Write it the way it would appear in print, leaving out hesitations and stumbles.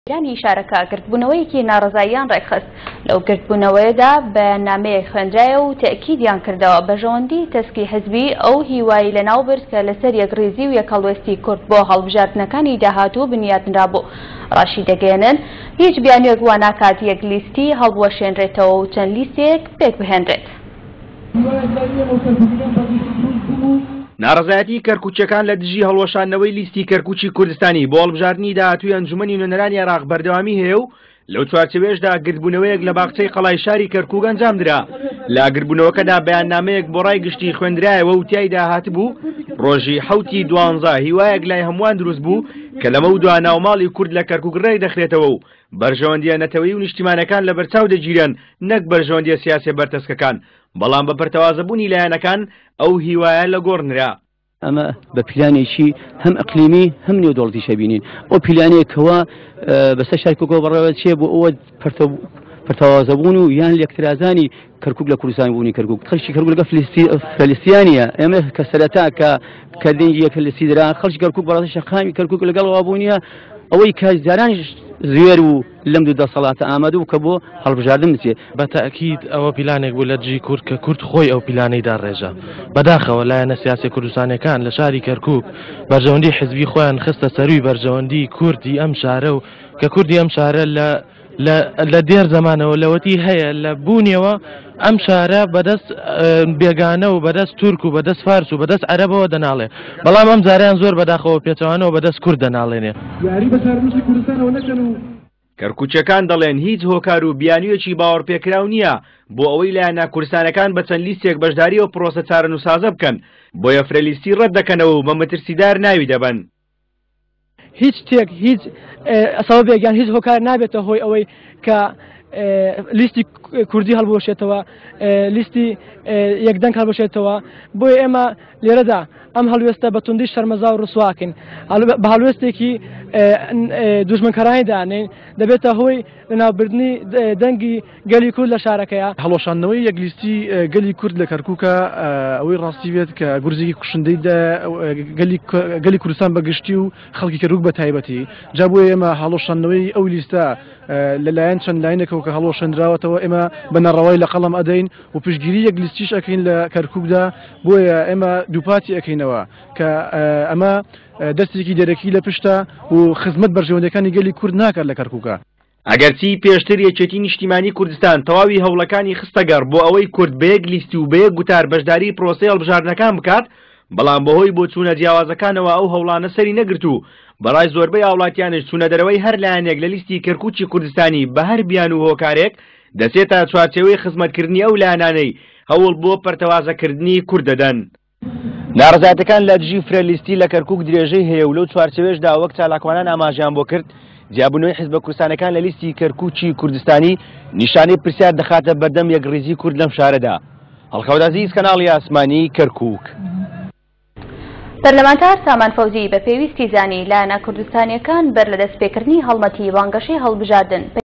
رۆشنبیرانی شارەکە گردبوونەوەیەکی ناڕەزاییان ڕێکخست، لەو گردبوونەوەیەدا بەیاننامەیەک خوێندرایەوە و تەئکیدیان کردەوە بەرژەوەندی تەسکی حزبی ئەو هیوای لەناوبرد کە لەسەر یەکڕیزی و یەکهەڵوێستی کورد بۆ هەڵبژاردنەکانی داهاتوو بنیاتنرابوو. ڕاشیدەگەیەنن، هیچ بیانوویەک واناکات یەک لیستی هەڵبوەشێنرێتەوە و چەند لیستێک پێکبهێنرێت. ناڕەزایەتیی کەرکوکییەکان لە دژی هەڵوەشاندنەوەی لیستی کەرکوکی کوردستانی بۆ هەڵبژاردنی داهاتووی ئەنجومەنی نوێنەرانی عێراق بەردەوامی هەیە و لەو چوارچێوەیەشدا گردبوونەوەیەک لە باخچەی قەڵای شاری کەرکوک ئەنجامدرا. لە گردبوونەوەکەدا بەیاننامەیەک بۆ ڕای گشتی خوێندرایەوە و تیایدا هاتبوو، ڕۆژی حەوتی دوانزە هیوایەک لای هەمووان دروست بوو کە لەمەودوا ناوماڵی کورد لە کەرکوک ڕێکدەخرێتەوە و بەرژەوەندییە نەتەوەیی و نیشتیمانەکان لەبەرچاو دەگیرێن نەک بەرژەوەندییە سیاسیە بەرتەسکەکان، بەڵام بە پەرتەوازەبوونی لایەنەکان ئەو هیوایە لەگۆڕ نرا. ئەمە بە پیلانێکی هەم ئەقلیمی هەم نێودەوڵەتیش ئەبینین. ئەو پیلانەیە کەوا بەسەر شاری کەرکوکەوە بەڕێوە چێ بۆ ئەوە پەرتەوازەبوون و یان لێکترازانی کەرکوک لە کوردستان بوونی کەرکوک خەڵکی کەرکوک لەگەڵ فلستیانیە ئێمە کە سەرەتا کە کە دەنگی یەک فلستی درا خەڵکی کەرکوک بەڕاستی شەقامی کەرکوک لەگەڵ وابوونیە ئەوەی کە جارانیش زوێر و لەم دوو دەسەڵاتە ئامادە بوو کە بۆ هەڵبژاردن بچێ. بە تەئکید ئەوە پیلانێک بوو لە دژی کورد کە کورد خۆی ئەو پیلانەی داڕێژا. بەداخەوە لایەنە سیاسیە کوردستانیەکان لە شاری کەرکوک بەرژەوەندی حزبی خۆیان خستە سەرووی بەرژەوەندی کوردی ئەم شارە و کە کوردی ئەم شارە لە لە لە دێر زەمانەوە لەوەتی هەیە لە بوونیەوە ئەم شارە بەدەست بێگانە و بەدەست تورک و بەدەست فارس و بەدەست عەرەبەوە دەناڵێ بەڵام ئەم جارەیان زۆر بەداخەوە پێچەوانەوە بەدەست کورد دەناڵێنێ. یاری بە چارەنووسی کوردستانەوە نەکەن و. کەرکوکیەکان دەڵێن هیچ هۆکار و بیانویەکی باوەڕپێکراو نییە بۆ ئەوەی لایەنە کوردستانەکان بە چەند لیستێک بەشداری ئەو پرۆسە چارەنووسسازە بکەن، بۆیە فرەلیستی ڕەت دەکەنەوە و بە مەترسیدار ناوی دەبەن. هیچ شتێک هیچ سەبەبێک یان هیچ هۆکار نابێتە هۆی ئەوەی کە لیستی کوردی هەڵبوەشێتەوە لیستی یەکدەنگ هەڵبشێتەوە بۆیە ئێمە لێرەدا ئەم هەڵوێستە بە توندی شەرمەزا و ڕسواکەین بە هەڵوێستێکی دوژمنکەرانی دانێن دەبێتە هۆی لەناوبردنی دەنگی گەلی کورد لە شارەکەیا. هەڵوەشاندنەوەی یەک لیستی گەلی کورد لە کەرکوکە ئەوەی ڕاستی بێت کە گورزێکی کوشندەی دا گەلی کوردستان بە گشتی و خەڵکی کەرکوک بە تایبەتی جا بۆیە ئێمە هەڵوەشاندنەوەی ئەو لیستە لەلایەن چەند لاینێکەوە کە هەڵوەشێندراوەتەوە ئێمە بە ناڕەوای لە قەڵەم ئەدەین و پشتگیری یەک لیستیش ئەکەین لە کەرکوکدا بۆیە ئێمە دووپاتی ئەکەینەوە کە ئەمە دەستێکی دەرەکی لە پشتە و خزمەت بەرژەوەندیەکانی گەلی کورد ناکات لە کەرکوکا. ئەگەرچی پێشتر یەکێتی نیشتیمانی کوردستان تەواوی هەوڵەکانی خستەگەڕ بۆ ئەوەی کورد بە یەک لیست و بە یەک گوتار بەشداری پرۆسەی هەڵبژاردنەکان بکات، بەڵام بەهۆی بۆچوونە جیاوازەکانەوە ئەو هەوڵانە سەری نەگرت و بەڕای زۆربەی هاوڵاتیانیش چوونەدەرەوەی هەر لایەنێک لە لیستی کەرکوکی کوردستانی بە هەر بیانوو و هۆکارێک دەچێتە چوارچێوەی خزمەتکردنی ئەو لایەنانەی هەوڵ بۆ پەرتەوازەکردنی کورد دەدەن. ناڕەزایەتەکان لە دژی فرە لیستی لە کەرکوک درێژەی هەیە و لەو چوارچێوەیەشدا وەک چالاکوانان ئاماژەیان بۆ کرد، جیابوونەوەی حیزبە کوردستانەکان لە لیستی کەرکوکی کوردستانی نیشانەی پرسیار دەخاتە بەردەم یەکڕیزی کورد لەم شارەدا. هەڵکەوت عەزیز، کەناڵی ئاسمانی، کەرکوک. پەرلەمانتار سامان فەوزی بە پێویستی زانی لایەنە کوردستانییەکان بەر لە دەستپێکردنی هەڵمەتی بانگەشەی هەڵبژاردن.